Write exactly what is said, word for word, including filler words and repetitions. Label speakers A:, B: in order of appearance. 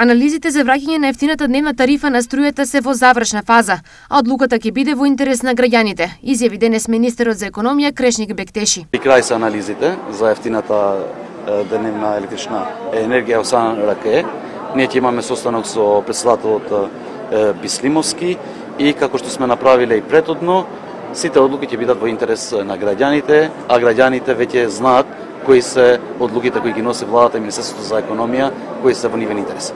A: Анализите за враќање на ефтината дневна тарифа на струјата се во завршна фаза, а одлуката ќе биде во интерес на граѓаните, изјави денес министерот за економија Крешник Бектеши.
B: При крај се анализите за ефтината дневна електрична енергија во Сан Раке. Ние ќе имаме состанок со претседателот Бислимовски и како што сме направиле и претhodно, сите одлуки ќе бидат во интерес на граѓаните, а граѓаните веќе знаат кои се одлуките кои ги носи владата и Министерството за економија, кои се во нивен интерес.